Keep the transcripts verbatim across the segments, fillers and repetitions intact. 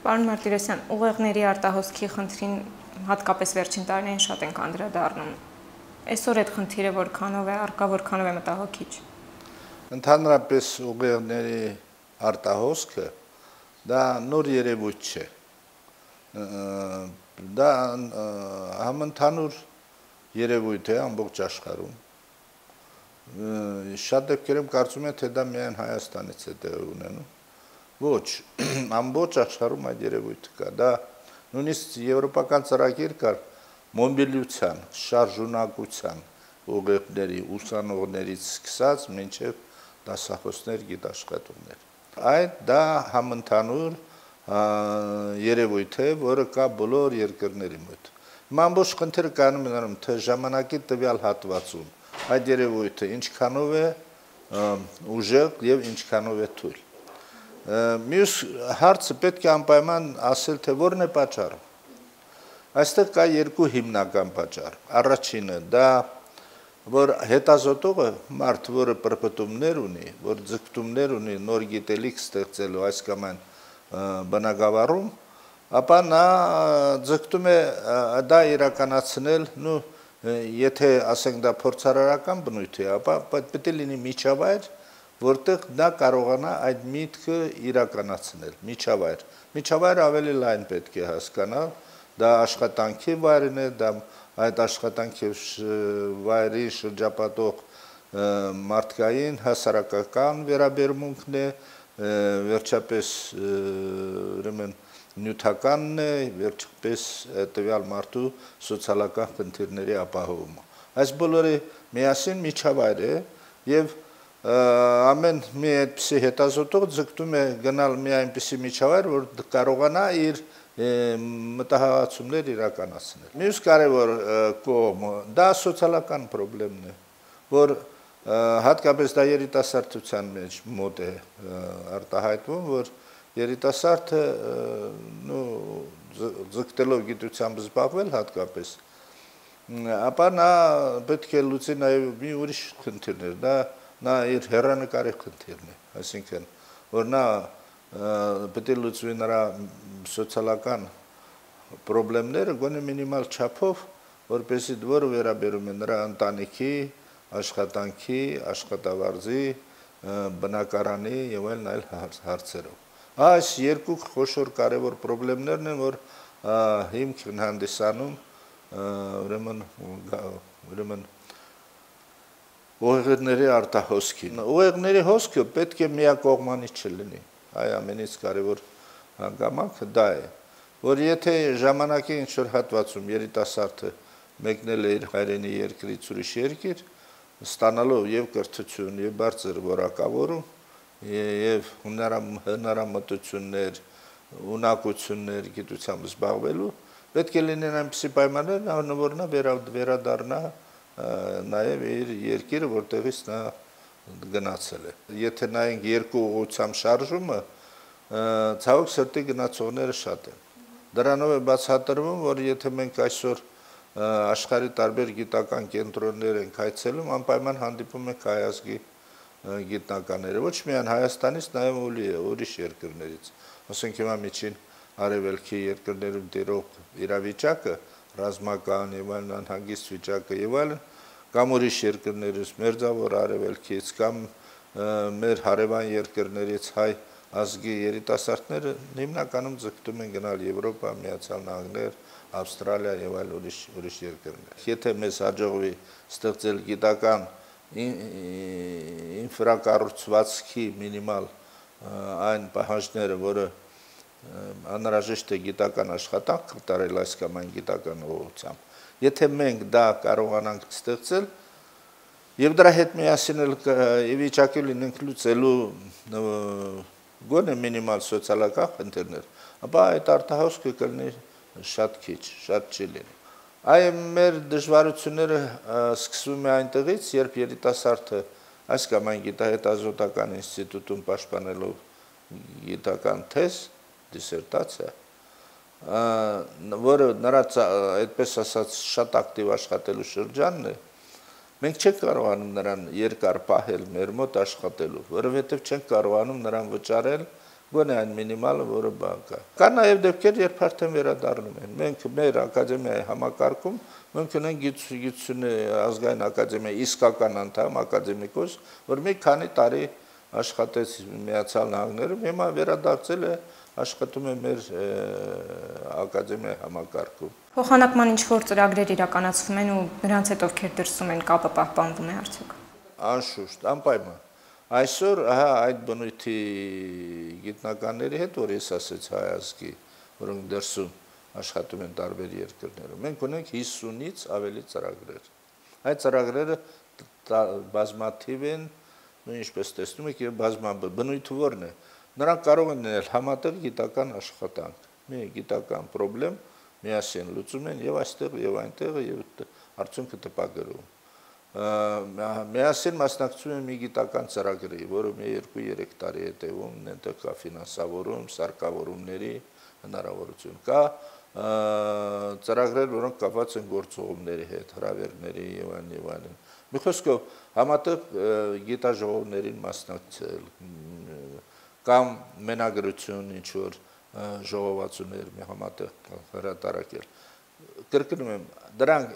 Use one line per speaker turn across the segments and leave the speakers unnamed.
Պարոն Մարտիրոսյան, ուղեղների արտահոսքի խնդրին հատկապես վերջին տարիներին շատ ենք անդրադառնում։ Այսօր այդ խնդիրը որքանով է առկա, որքանով է մտահոգիչ։
Ընդհանրապես ուղեղների արտահոսքը դա նոր երևույթ չէ։ Դա համընդհանուր երևույթ է ամբողջ աշխարհում։ Շատ դեպքերում կարծում եմ, թե դա միայն Հայաստանից է տեղի ունենում։ Ոչ, ամբողջ աշխարհում այդ երևույթը կա։ Դա նույնիսկ եվրոպական ծրագիր կար մոբիլության, շարժունակության ուղեղների ուսանողներից սկսած մինչև դասախոսներ, գիտաշխատողներ։ Այդ դա համընդհանուր երևույթ է, որը կա բոլոր երկրների մոտ։ Հիմա ամբողջ խնդիրը կայանում է նրանում, թե ժամանակի տվյալ հատվածում այդ երևույթը ինչքանով է ուժեղ եւ ինչքանով է թույլ։ Մյուս հարցը պետք է անպայման ասել, թե որն է պատճառը։ Այստեղ կա երկու հիմնական պատճառ։ Առաջինը դա որ հետազոտողը մարդ, որը պրպտումներ ունի, որ ձգտումներ ունի նոր գիտելիք ստեղծելու այս կամ այն բնագավառում, ապա նա ձգտում է դա իրականացնել, նու եթե ասենք դա փորձարարական բնույթ է, ապա պետք է լինի միջավայր, որտեղ դա կարողանա այդ միտքը իրականացնել, միջավայր։ Միջավայրը ավելի լայն պետք է հասկանալ, դա աշխատանքի վայրն է, դա այդ աշխատանքի վայրի շրջապատող մարդկային, հասարակական վերաբերմունքն է, վերջապես ուրեմն նյութականն է, վերջապես տվյալ մարդու սոցիալական խնդիրների ապահովումը։ Այս բոլորը միասին միջավայր է եւ ամեն մի այդպիսի հետազոտող ձգտում է գնալ մի այնպիսի միջավայր, որ կարողանա իր մտահղացումներ իրականացնել։ Մյուս կարևոր կողմը դա սոցիալական խնդիրն է, որ հատկապես դա երիտասարդության մեջ մոտ է արտահայտվում, որ երիտասարդը նո ձգտելով գիտությամբ զբաղվել հատկապես, ապա նա պետք է լուծի նաև մի ուրիշ խնդիրներ, դա նա իր հեռանկարի խնդիրն է, այսինքն, որ նա պետք է լուծվի նրա սոցիալական խնդիրները գոնե մինիմալ չափով, որպեսզի որը վերաբերում է նրա ընտանիքի, աշխատանքի, աշխատավարձի, բնակարանի եւ այլն այլ հարցերով։ Այս երկու խոշոր կարևոր խնդիրներն են, որ հիմք են հանդիսանում ուրեմն ուրեմն ուղեղների արտահոսքին։ Ուղեղների հոսքը պետք է միակողմանի չլինի։ Այ ամենից կարևոր հանգամանքը դա է, որ եթե ժամանակի ինչ-որ հատվածում երիտասարդը մեկնել է իր հայրենի երկրից ուրիշ երկիր, ստանալով եւ կրթություն, եւ բարձր որակավորում, եւ հնարամտություններ, ունակություններ գիտությամբ զբաղվելու, պետք է լինեն այնպիսի պայմաններ, որ նա վերադառնա նաև իր երկիրը, որտեղից նա գնացել է։ Եթե նայենք երկու ուղղությամբ շարժումը, ցավոք սրտի գնացողները շատ են։ Դրանով է բացատրվում, որ եթե մենք այսօր աշխարհի տարբեր գիտական կենտրոններ ենք այցելում, անպայման հանդիպում ենք հայ ազգի գիտնականները, ոչ միայն Հայաստանից, նաև ուրիշ երկրներից։ Ասենք հիմա միջին արևելքի երկրներում տիրող իրավիճակը, ռազմական եւ այլն անհագիստ վիճակը եւ այլն, կամ ուրիշ երկրներից, մերձավոր արևելքից, կամ մեր հարևան երկրներից հայ ազգի երիտասարդները հիմնականում ձգտում են գնալ Եվրոպա, Միացյալ Նահանգներ, Ավստրալիա եւ այլ ուրիշ ուրիշ երկրներ։ Եթե մեզ հաջողվի ստեղծել գիտական ինֆրակառուցվածքի մինիմալ այն պահանջները, որը անհրաժեշտ է գիտական աշխատանք կատարել այս կամ այն գիտական ուղղությամբ։ Եթե մենք դա կարողանանք ստեղծել եւ դրա հետ միասին ի վիճակի լինենք լուծելու գոնե մինիմալ սոցիալական խնդիրներ, ապա այդ արտահոսքը կլինի շատ քիչ, շատ չի լինի։ Այ մեր դժվարությունները սկսվում է այնտեղից, երբ երիտասարդը այս կամ այն գիտահետազոտական ինստիտուտում պաշտպանելով գիտական թեզ, դիսերտացիա, որը նրա այդպես ասած շատ ակտիվ աշխատելու շրջանն է, մենք չենք կարողանում նրան երկար պահել մեր մոտ աշխատելու, որովհետև չենք կարողանում նրան վճարել Գոնե այն մինիմալը, որը բան կա։ Կա նաև դեպքեր, երբ արդեն վերադառնում են։ Մենք մեր ակադեմիայի համակարգում մենք ունենք գիտությունների ազգային ակադեմիայի իսկական անդամ ակադեմիկոս, որ մի քանի տարի աշխատեց Միացյալ Նահանգներում, հիմա վերադարձել է աշխատում է մեր ակադեմիայի համակարգում։
Փոխանակման ինչ-որ ծրագրեր իրականացվում են ու նրանց հետ ովքեր դրսում են, կապը պահպանվում է արդյոք։
Անշուշտ, անպայման։ Այսօր ահա այդ բնույթի գիտնականների հետ, որ ես ասեցի հայ ազգի, որոնք դրսում աշխատում են տարբեր երկրներում, մենք ունենք հիսունից ավելի ծրագրեր։ Այդ ծրագրերը բազմաթիվ են, ինչպես տեսնում եք, եւ բազմաբար բնույթը որն է։ Նրանք կարող են լինել համատեղ գիտական աշխատանք, մի գիտական խնդրեմ միասին լուծում են եւ այստեղ եւ այնտեղ եւ արդյունքը տպագրում։ Միասին մասնակցում են մի գիտական ծրագրի, որը մի երկու-երեք տարի է տևում, այնտեղ կա ֆինանսավորում, սարքավորումների հնարավորություն կա, ծրագրեր, որոնք կապված են գործողումների հետ, հրավերների եւ այլն եւ այլն։ Մի խոսքով համատեղ գիտաժողովներին մասնակցել կամ մենագրություն ինչ որ ժողովածուներ մի համատեղ հրատարակել։ Կրկնում եմ, դրանք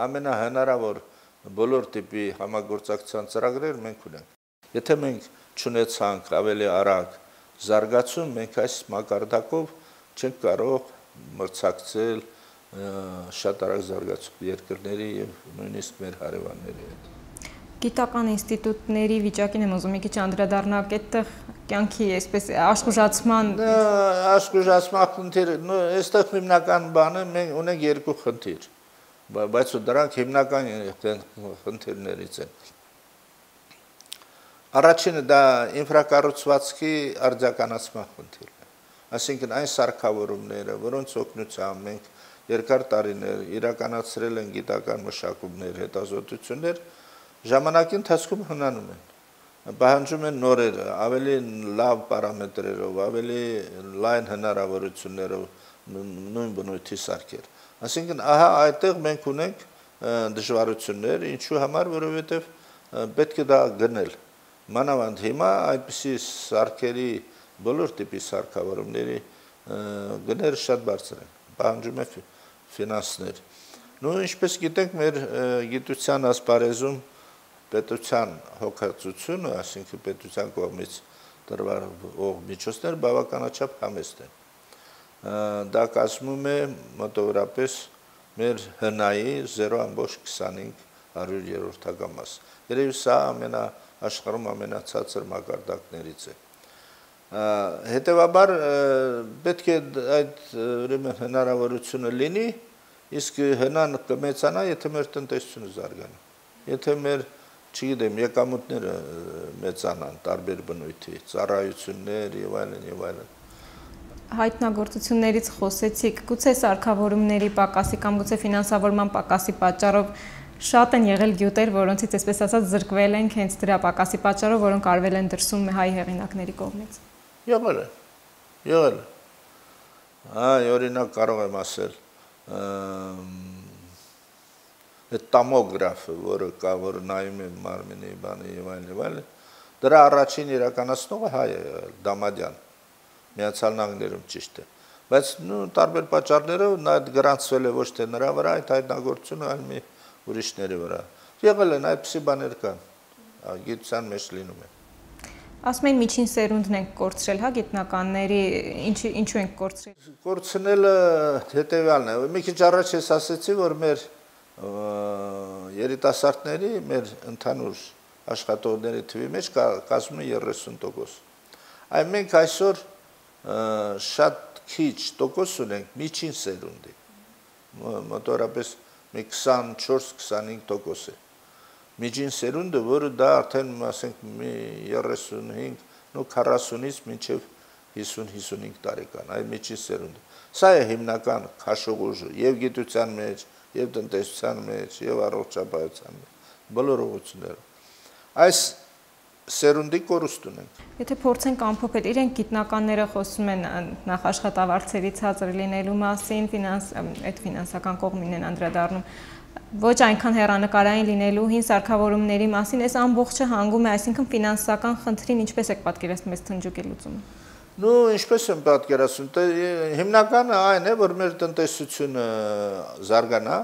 ամենահնարավոր բոլոր տիպի համագործակցության ծրագրեր մենք ունենք։ Եթե մենք չունեցանք ավելի արագ զարգացում, մենք այս մակարդակով չենք կարող մրցակցել շատ արագ զարգացող երկրների եւ նույնիսկ մեր հարևանների հետ։
Գիտական ինստիտուտների վիճակին եմ ուզում մի քիչ անդրադառնալ, այդտեղ կյանքի այսպես աշխուժացման
աշխուժացման խնդիրը, նո, այստեղ հիմնական բանը մենք ունենք երկու խնդիր, բայց դրանք հիմնական խնդիրներից են։ Առաջինը դա ինֆրակառուցվածքի արձագանացման խնդիրն է։ Այսինքն այն սարքավորումները, որոնց օգնությամբ մենք երկար տարիներ իրականացրել են գիտական մշակումներ, հետազոտություններ, ժամանակի ընթացքում հնանում են, պահանջում են նորեր, ավելի լավ պարամետրերով, ավելի լայն հնարավորություններով նույն բնույթի սարքեր։ Այսինքն ահա այդտեղ մենք ունենք դժվարություններ, ինչու համար, որովհետև պետք է դա գնել։ Մանավանդ հիմա այդպիսի սարքերի բոլոր տիպի սարքավորումների գները շատ բարձր են, պահանջում է ֆինանսներ։ Նու ինչպես գիտենք, մեր գիտության ասպարեզում պետության հոգացությունը, այսինքն պետության կողմից տրվող միջոցներ բավականաչափ համեստ են։ Դա կազմում է մոտավորապես մեր հնայի զերո բացի քսանհինգ հարյուրերորդական մաս։ Երևի սա ամենա աշխարհում ամենացածր մակարդակներից է։ Հետևաբար պետք է այդ ուրեմն հնարավորությունը լինի, իսկ հնան կմեծանա, եթե մեր տնտեսությունը զարգանա։ Եթե մեր, չգիտեմ, եկամուտները մեծանան տարբեր բնույթի, ծառայություններ եւ այլն եւ այլն։
Հայտնագործություններից խոսեցիք, գուցե սարքավորումների պակասի կամ գուցե ֆինանսավորման պակասի պատճառով շատ են եղել գյուտեր, որոնցից այսպես ասած զրկվել ենք հենց դրա պակասի պատճառով, որոնք արվել են դրսում հայ հեղինակների կողմից։
Եղել է, եղել է։ Այ օրինակ կարող եմ ասել, այդ տոմոգրաֆը, որը կա, որ նայում է մարմինի բանը եւ այլն եւ այլն, դրա առաջին իրականացնողը հայ է, Դամադյան, Միացյալ Նահանգներում ճիշտ է։ Բայց նու տարբեր պատճառներով նա այդ գրանցվել է ոչ թե նրա վրա, այդ հայտնագործությունը, այլ մի ուրիշների վրա։ Եղել են այդպիսի բաներ կան, գիտության մեջ լինում է։
Ասում են միջին սերունդն ենք կորցրել, հա, գիտնականների, ինչու ենք կորցրել։
Կորցնելը հետևյալն է։ Մի քիչ առաջ ես ասացի, որ մեր երիտասարդների, մեր ընդհանուր աշխատողների թվի մեջ կազմում է երեսուն տոկոս։ Այն մենք այսօր շատ քիչ տոկոս ունենք միջին սերունդի, մոտավորապես մի քսանչորս քսանհինգ տոկոս է։ Միջին սերունդը, որը դա արդեն ասենք մի երեսունհինգ, նո քառասունից մինչև հիսուն հիսունհինգ տարեկան, այ միջին սերունդը։ Սա է հիմնական քաշողուժը եւ գիտության մեջ, եւ տնտեսության մեջ, եւ առողջապահության մեջ, բոլոր ուղղություններով։ Այս սերունդի կորուստ ունենք։
Եթե փորձենք ամփոփել, իրենք գիտնականները խոսում են նախ աշխատավարձերի ցածր լինելու մասին, ֆինանս, այդ ֆինանսական կողմին են անդրադառնում, ոչ այնքան հեռանկարային լինելու, հին սարքավորումների մասին, այս ամբողջը հանգում է, այսինքն ֆինանսական խնդրին ինչպես եք պատկերացնում այս թնջուկի լուծումը։
Ну, ինչպես եմ պատկերացնում, հիմնականը այն է, որ մեր տնտեսությունը զարգանա,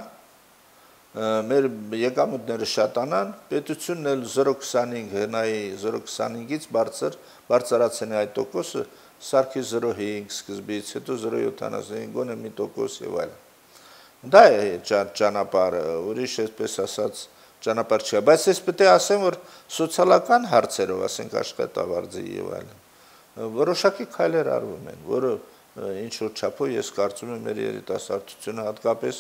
մեր եկամուտները շատանան, պետությունն էլ զրո փոխ քսանհինգ հնայի զրո փոխ քսանհինգից բարձր բարձրացնի այդ տոկոսը, սարքի զրո փոխ հինգ սկզբից, հետո զրո փոխ յոթանասունհինգ, գոնե մի տոկոս եւ այլն։ Դա է ճանապարհը, ուրիշ այսպես ասած ճանապարհ չէ, բայց ես պետք է ասեմ, որ սոցիալական հարցերով, ասենք աշխատավարձի եւ այլն, որոշակի քայլեր արվում են, որը ինչ որ չափով ես կարծում եմ մեր երիտասարդությունը հատկապես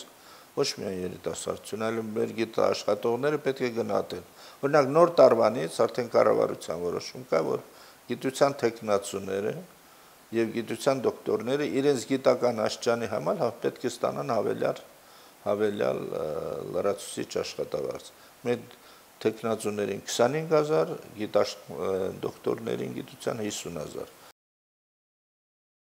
ոչ միայն երիտասարդությունը, այլ մեր գիտաշխատողները պետք է գնահատեն։ Օրինակ նոր տարվանից արդեն կառավարության որոշում կա, որ գիտության տեխնացուները եւ գիտության դոկտորները իրենց գիտական աստիճանի համար պետք է ստանան հավելյալ հավելյալ լրացուցիչ աշխատավարձ։ Մեր տեխնացուներին քսանհինգ հազար, դոկտորներին գիտության հիսուն հազար։